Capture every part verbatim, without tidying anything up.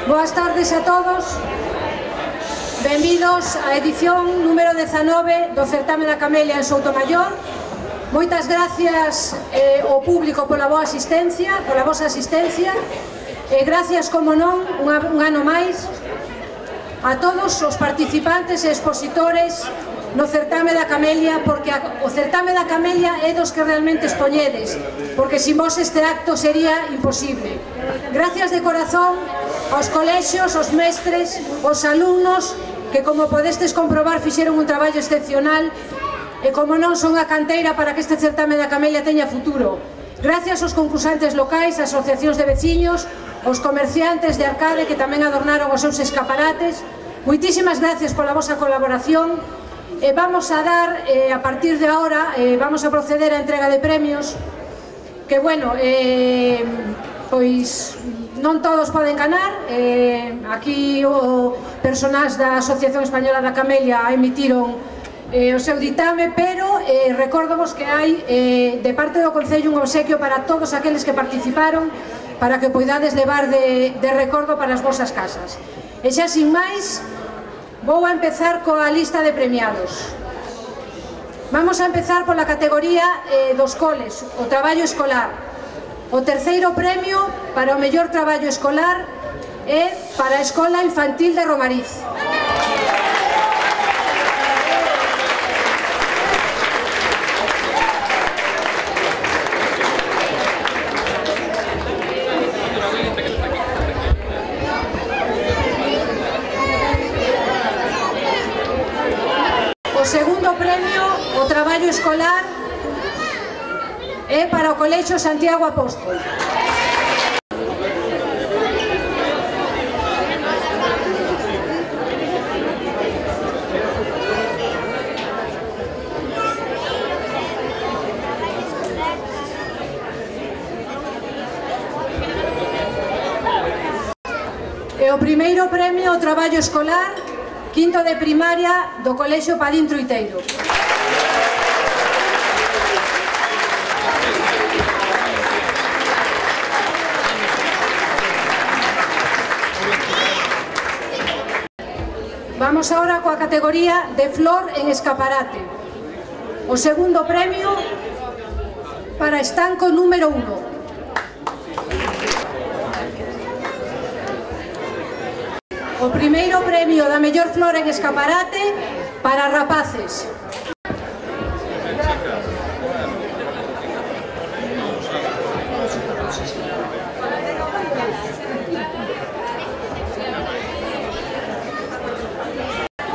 Boas tardes a todos. Benvidos á edición número dezanove do Certame da Camelia en Soutomaior. Moitas gracias eh, ao público pola boa asistencia, pola vosa asistencia, e gracias, como non, un, un ano máis a todos os participantes e expositores no Certame da Camelia, porque a, o Certame da Camelia é dos que realmente expoñedes, porque sin vos este acto sería imposible. Gracias de corazón aos colexios, aos mestres, aos alumnos, que, como podestes comprobar, fixeron un traballo excepcional e, como non, son a canteira para que este Certame da Camelia teña futuro. Gracias aos concursantes locais, as asociacións de veciños, aos comerciantes de Arcade que tamén adornaron os seus escaparates. Moitísimas gracias pola vosa colaboración. E vamos a dar, eh, a partir de ahora, eh, vamos a proceder á entrega de premios, que, bueno, eh, pois non todos poden ganar. Eh, aquí o personas da Asociación Española da Camelia emitiron eh, o seu ditame, pero eh, recórdovos que hai eh, de parte do Concello un obsequio para todos aqueles que participaron, para que poidades levar de, de recordo para as vosas casas. E xa sin máis, vou a empezar coa lista de premiados. Vamos a empezar pola categoría eh, dos coles, o traballo escolar. O terceiro premio para o mellor traballo escolar é para a Escola Infantil de Romariz. O segundo premio, o traballo escolar, é para o Colexio Santiago Apóstol. E o primeiro premio, o traballo escolar, quinto de primaria do Colexio Padín Truiteiro. Vamos ahora coa categoría de flor en escaparate. O segundo premio para estanco número uno. O primeiro premio da mellor flor en escaparate para rapaces.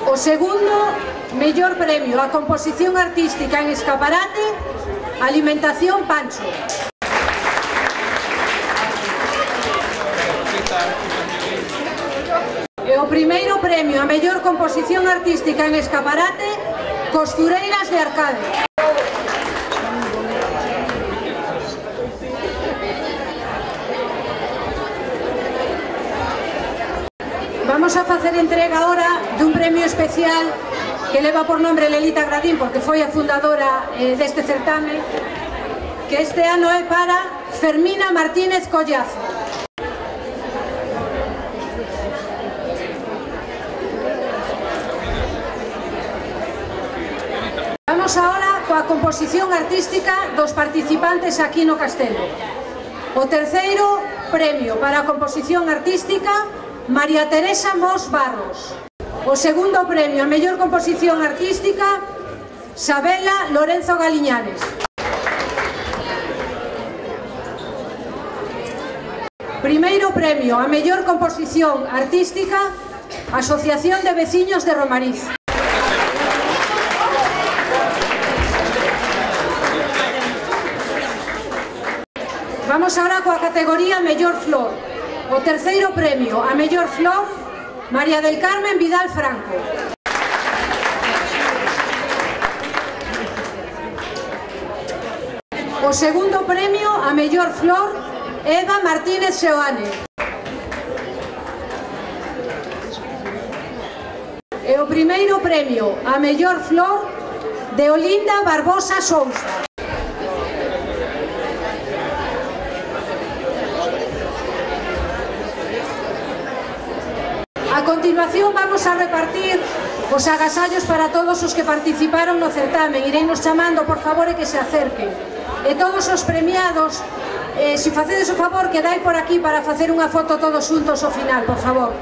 O segundo mellor premio a composición artística en escaparate, Alimentación Pancho. E o primeiro premio a mellor composición artística en escaparate, Costureiras de Arcade. Vamos a facer entrega ahora dun premio especial que leva por nombre Lelita Gradín, porque foi a fundadora eh, deste certame, que este ano é para Fermina Martínez Collazo. Vamos ahora coa composición artística dos participantes aquí no Castelo. O terceiro premio para a composición artística, María Teresa Mos Barros. O segundo premio a mellor composición artística, Sabela Lorenzo Galiñanes. Primeiro premio a mellor composición artística, Asociación de Veciños de Romariz. Vamos ahora coa categoría mellor flor. O terceiro premio a mellor flor, María del Carmen Vidal Franco. O segundo premio a mellor flor, Eva Martínez Seoane. E o primeiro premio a mellor flor, de Olinda Barbosa Sousa. A continuación vamos a repartir os agasallos para todos os que participaron no certamen. Ireinos chamando, por favor, e que se acerquen. E todos os premiados, eh, se facedes o favor, quedai por aquí para facer unha foto todos xuntos ao final, por favor.